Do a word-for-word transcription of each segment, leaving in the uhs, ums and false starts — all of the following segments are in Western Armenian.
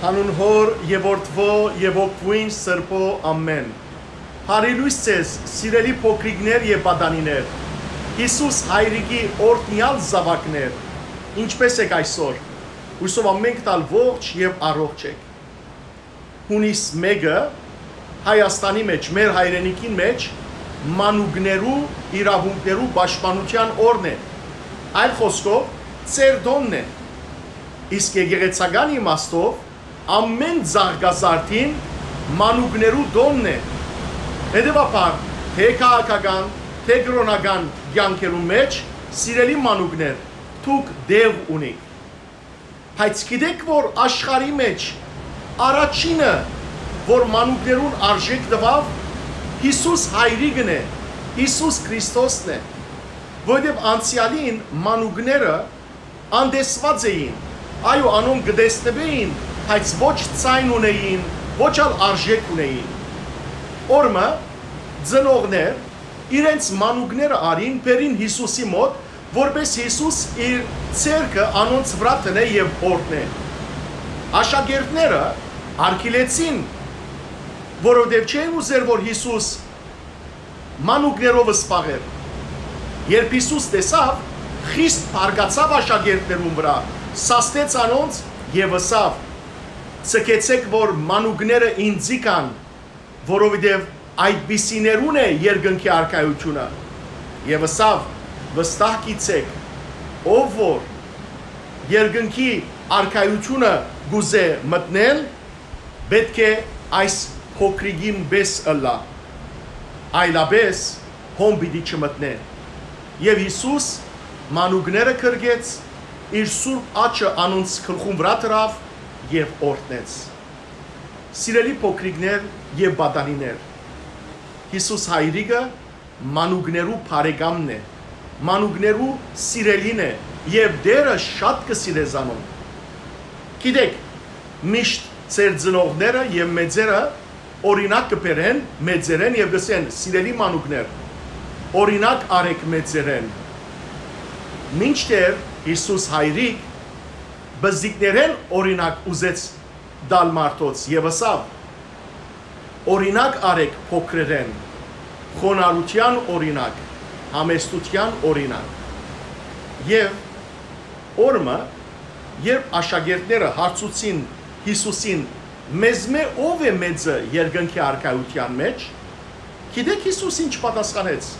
Անուն Հօր եւ Որդւոյ եւ Հոգւոյն Սրբոյ, ամէն։ Բարի լոյս ձեզ, սիրելի փոքրիկներ եւ պատանիներ, Յիսուս Հայրիկի օրհնեալ զաւակներ։ Ինչպէս եք այսօր։ Յուսով ամէնքդ ալ ողջ եւ առողջ եք։ Յունիս մէկը Հայաստանի մէջ, մեր հայրենիքին մէջ, մանուկներու իրաւունքներու պաշտպանութեան օրն է։ Այլ խօսքով, ծեր տօնն է։ Իսկ եկեղեցական իմաստով, ամէն ծաղկազարդին մանուկներու տօնն է։ Հետեւաբար, թէ քաղաքական, թէ կրօնական կեանքերուն մէջ, սիրելի մանուկներ, դուք տեղ ունիք։ Բայց գիտեք, որ աշխարհի մէջ առաջինը, որ մանուկներուն արժէք տուաւ, Յիսուս Հայրիկն է, Յիսուս Քրիստոսն է, որովհետեւ անցեալին մանուկները անտեսուած էին, այո, անոնք կը տեսնուէին, բայց ոչ ձայն ունէին, ոչ ալ արժէք ունէին։ Օրմը ծնողներ իրենց մանուկները առին, բերին Յիսուսի մօտ, որպէս Յիսուս իր ձեռքը անոնց վրայ դնէ եւ օրհնէ։ Աշակերտները արգիլեցին, որովհետեւ չէին ուզեր, որ Յիսուս մանուկներով զբաղեր։ Երբ Յիսուս տեսաւ, խիստ բարկացաւ աշակերտներուն վրայ, սաստեց անոնց եւ ըսաւ. «Ձգեցէք, որ մանուկները ինծի գան, որովհետեւ այդպիսիներուն է երկնքի արքայութիւնը»։ Եւ ըսաւ. «Վստահ գիտցէք, ով որ երկնքի արքայութիւնը կ'ուզէ մտնել, պէտք է այս փոքրիկին պէս ըլլայ, այլապէս հոն պիտի չմտնէ»։ Եւ Յիսուս մանուկները գրկեց, իր սուրբ աջը անոնց գլխուն վրայ դրաւ եւ օրհնեց։ Սիրելի փոքրիկներ եւ պատանիներ, Յիսուս Հայրիկը մանուկներու բարեկամն է, մանուկներու սիրելին է եւ Տէրը շատ կը սիրէ զանոնք։ Գիտեք, միշտ ձեր ծնողները եւ մեծերը օրինակ կը բերեն մեծերէն եւ կ'ըսեն. «Սիրելի մանուկներ, օրինակ առէք մեծերէն»։ Մինչդեռ Յիսուս Հայրիկ պզիկներէն օրինակ ուզեց տալ մարդոց եւ ըսաւ. «Օրինակ առէք փոքրերէն, խոնարհութեան օրինակ, համեստութեան օրինակ»։ Եւ օրմը, երբ աշակերտները հարցուցին Յիսուսին. «Մեզմէ ո՞վ է մեծը երկնքի արքայութեան մէջ»։ Գիտեք Յիսուս ինչ պատասխանեց։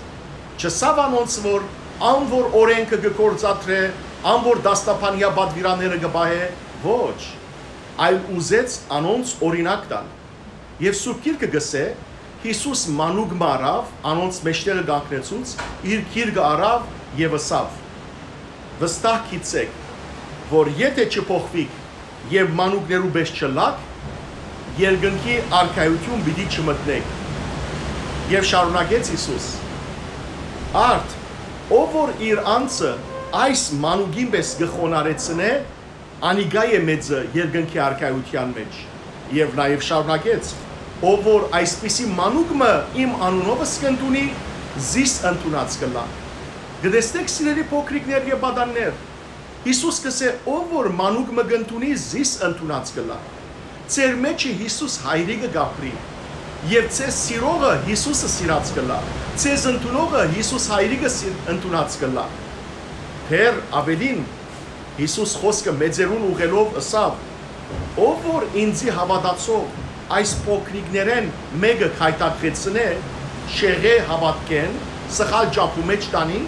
Չըսաւ անոնց, որ ան որ օրէնքը կը գործադրէ, ան որ դաստաբանեայ պատուիրանները կը պահէ, ոչ, այլ ուզեց անոնց օրինակ տալ։ Եւ Սուրբ Գիրքը կ'ըսէ. «Յիսուս մանուկ մը առաւ, անոնց մէջտեղը կանգնեցուց, իր գիրկը առաւ եւ ըսաւ. "Վստահ գիտցէք, որ եթէ չփոխուիք եւ մանուկներու պէս չըլլաք, երկնքի արքայութիւն պիտի չմտնէք"»։ Եւ շարունակեց Յիսուս. «Արդ, ով որ իր անձը այս մանուկին պէս կը խոնարհեցնէ, անիկա է մեծը երկնքի արքայութեան մէջ»։ Եւ նաեւ շարունակեց. «Ով որ այսպիսի մանուկ մը իմ անունովս կ'ընդունի, զիս ընդունած կ'ըլլայ»։ Կը տեսնէք, սիրելի փոքրիկներ եւ պատաններ, Յիսուս կ'ըսէ. «Ով որ մանուկ մը կ'ընդունի, զիս ընդունած կ'ըլլայ»։ Ձեր մէջը Յիսուս Հայրիկը կ'ապրի, եւ ձեզ սիրողը Յիսուսը սիրած կ'ըլլայ, ձեզ ընդունողը Յիսուս Հայրիկը սի-, ընդունած կ'ըլլայ։ Դեռ աւելին, Յիսուս խօսքը մեծերուն ուղղելով ըսաւ. «Ով որ ինծի հաւատացող այս փոքրիկներէն մէկը գայթակղեցնէ շեղէ հաւատքէն, սխալ ճամբու մէջ տանի,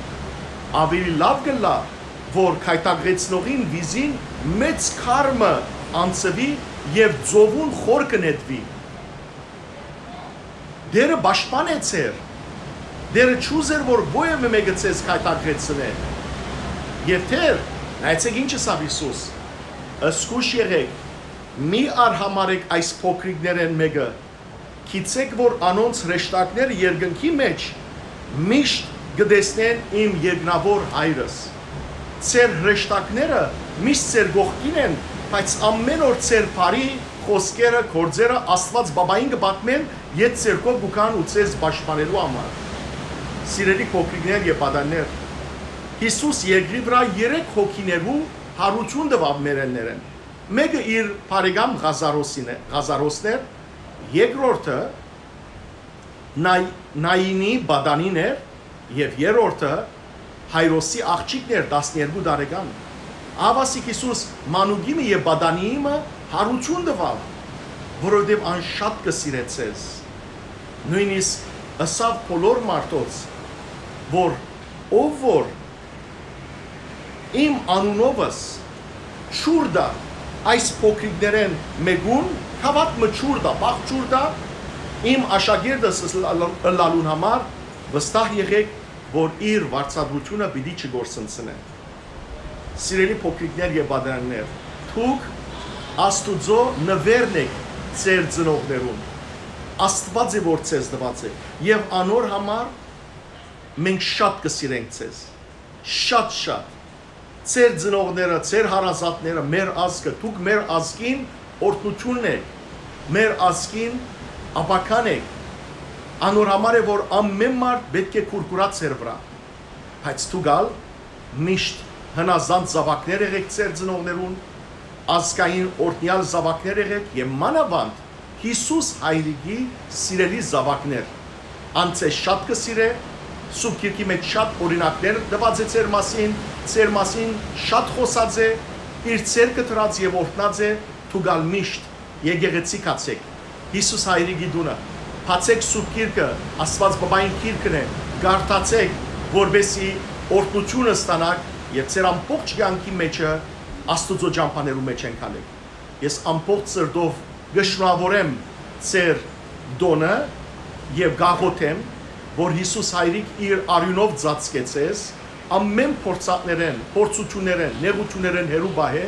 աւելի լաւ կ'ըլլայ, որ գայթակղեցնողին վիզին մեծ քար մը անցուի եւ ծովուն խոր կը նետուի»։ Տէրը պաշտպան է ձեր։ Տէրը չուզեր, որ ոեւէ մէկը ձեզ գայթակղեցնէ։ Եւ դեռ, նայեցէք ինչ ըսաւ Յիսուս. «Զգոյշ եղէք, մի արհամարհէք այս փոքրիկներէն մէկը, գիտցէք, որ անոնց հրեշտակները երկնքի մէջ միշտ կը տեսնեն իմ երկնաւոր Հայրս»։ Ձեր հրեշտակները միշտ ձեր կողքին են, բայց ամէն օր ձեր բարի խօսքերը, գործերը Աստուած Պապային կը պատմեն, յետ ձեր քով կու գան ու ձեզ պաշտպանելու համար։ Սիրելի փոքրիկներ եւ պատաններ, Յիսուս երկրի վրայ երեք հոգիներու հարութիւն տուաւ մեռելներէն։ Մէկը իր բարեկամ Ղազարոսին է, Ղազարոսն էր, երկրորդը Նայ-, Նայինի պատանին էր եւ երրորդը Հայրոսի աղջիկն էր, տասներկու տարեկան։ Ահա ասիկա Յիսուս մանուկի մը եւ պատանիի մը յարութիւն տուաւ, որովհետեւ ան շատ կը սիրէ ձեզ։ Նոյնիսկ ըսաւ բոլոր մարդոց, որ ով որ իմ անունովս ջուր տայ այս փոքրիկներէն մէկուն, գաւաթ մը ջուր տայ, բախ ջուր տայ, իմ աշակերտս ըլլալուն համար, վստահ եղէք, որ իր վարձատրութիւնը պիտի չկորսնցնէ։ Սիրելի փոքրիկներ եւ պատանիներ, դուք Աստուծոյ նուէրն էք ձեր ծնողներուն։ Աստուած է, որ ձեզ տուած է, եւ անոր համար մենք շատ կը սիրենք ձեզ, շատ-շատ։ Ձեր ծնողները, ձեր հարազատները, մեր ազգը, դուք մեր ազգին օրհնութիւնն էք, մեր ազգին ապագան էք։ Անոր համար է, որ ամէն մարդ պէտք է կուրկուրա ձեր վրայ, բայց դուք ալ միշտ հնազանդ զաւակներ եղէք ձեր ծնողներուն, ազգային օրհնեալ զաւակներ եղէք եւ մանաւանդ Յիսուս Հայրիկի սիրելի զաւակներ։ Ան ձեզ շատ կը սիրէ, Սուրբ Գիրքի մէջ շատ օրինակներ տուած է ձեր մասին, ձեր մասին շատ խօսած է, իր ձեռքը դրած եւ օրհնած է, դուք ալ միշտ եկեղեցի գացէք, Յիսուս Հայրիկի տունը, բացէք Սուրբ Գիրքը, Աստուած Պապային գիրքն է, կարդացէք, որպեսզի օրհնութիւնը ստանաք եւ ձեր ամբողջ կեանքի մէջը Աստուծոյ ճամբաներու մէջ ընկալէք։ Ես ամբողջ սրտով կը շնորհաւորեմ ձեր տօնը եւ կ'աղօթեմ, որ Յիսուս Հայրիկ իր արիւնով ծածկէ ձեզ, ամէն փորձանքներէն, փորձութիւններէն, նեղութիւններէն հեռու պահէ,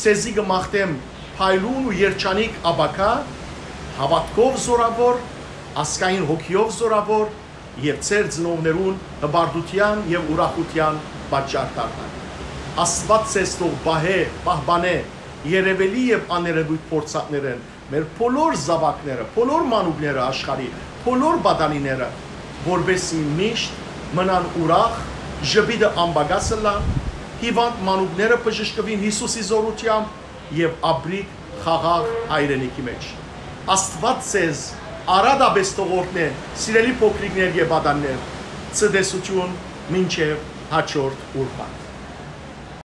ձեզի կը մաղթեմ փայլուն ու երջանիկ ապագայ, հաւատքով զօրաւոր, ազգային հոգիով զօրաւոր եւ ձեր ծնողներուն հպարտութեան եւ ուրախութեան պատճառ դառնաք։ Աստուած ձեզ թող պահէ, պահպանէ երեւելի եւ աներեւոյթ փորձանքներէն մեր բոլոր զաւակները, բոլոր մանուկները աշխարհի, բոլոր պատանիները, որպեսզի միշտ մնան ուրախ, ժպիտը անպակաս ըլլան, հիւանդ մանուկները բժշկուին Յիսուսի զօրութեամբ եւ ապրիք խաղաղ հայրենիքի մէջ։ Աստուած ձեզ արատապէս թող օրհնէ, սիրելի փոքրիկներ եւ պատանիներ, ցտեսութիւն մինչեւ հաջորդ ուրբաթ։